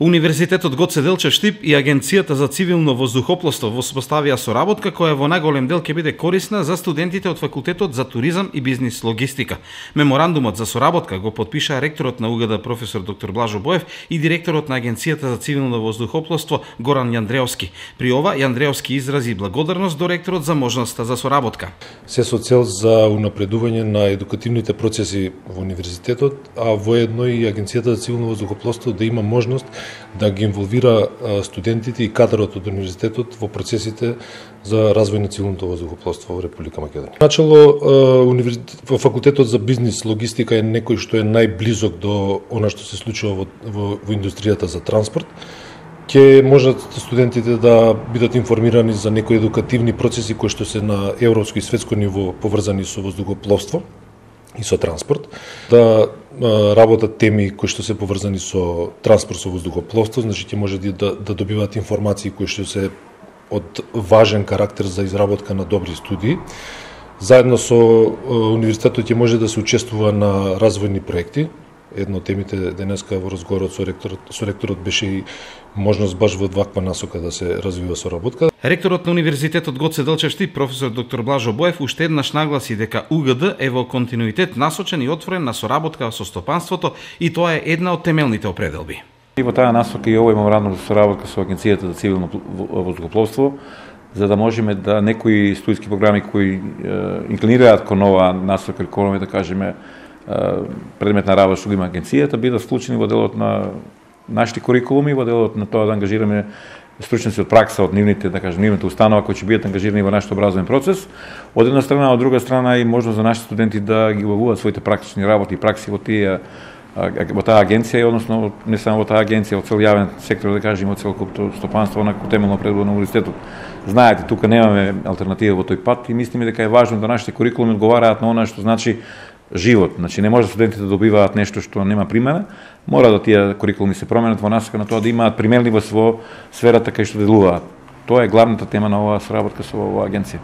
Универзитетот Гоце Делчев Штип и Агенцијата за цивилно воздухопловство воспоставија соработка која во најголем дел ќе биде корисна за студентите од факултетот за туризам и бизнис логистика. Меморандумот за соработка го потпиша ректорот на УГД професор доктор Блажо Боев и директорот на Агенцијата за цивилно воздухопловство Горан Јандреовски. При ова Јандреовски изрази благодарност до ректорот за можноста за соработка. Се со цел за унапредување на едукативните процеси во универзитетот, а воедно и Агенцијата за цивилно воздухопловство да има можност да ги инволвира студентите и кадрот од универзитетот во процесите за развој на цивилното воздухопловство во Република Македонија. Начало, во факултетот за бизнис логистика е некој што е најблизок до она што се случува во индустријата за транспорт. Ќе можат студентите да бидат информирани за некои едукативни процеси кои што се на европско и светско ниво поврзани со воздухопловство и со транспорт, да работат теми кои што се поврзани со транспорт со воздухопловство, значи ќе може да добиваат информации кои што се од важен карактер за изработка на добри студии. Заедно со универзитетот ќе може да се учествува на развојни проекти. Едно од темите денеска во разговорот со ректорот беше и можност баш во ваква насока да се развива соработка. Ректорот на Универзитетот Гоце Делчев Штип, професор доктор Блажо Боев, уште еднаш нагласи дека УГД е во континуитет насочен и отворен на соработка со стопанството и тоа е една од темелните определби. И во таа насока и овој меморандум за соработка со Агенцијата за цивилно воздухопловство, за да можеме да некои студиски програми кои инклинираат кон ова насока, да кажеме, предмет на работа што има агенцијата, бидат вклучени во делот на нашите курикулуми, во делот на тоа да ангажираме стручници од пракса од нивните, да кажем, нивните установа кои ќе бидат ангажирани во нашиот образовен процес. Од една страна, од друга страна и можност за нашите студенти да ги обавуваат своите практични работи и пракси во таа агенција, односно не само во таа агенција, во цел јавен сектор, да кажем, во целокупното стопанство, онако темелно предвидено на универзитетот. Знаете, тука немаме алтернатива во тој пат и мислиме дека е важно да нашите курикулуми одговараат на она што значи живот. Значи не може студентите да добиваат нешто што нема примена, мора да тие курикулуми се променат во насока на тоа да имаат применливост во сферата кај што делуваат. Тоа е главната тема на оваа соработка со оваа агенција.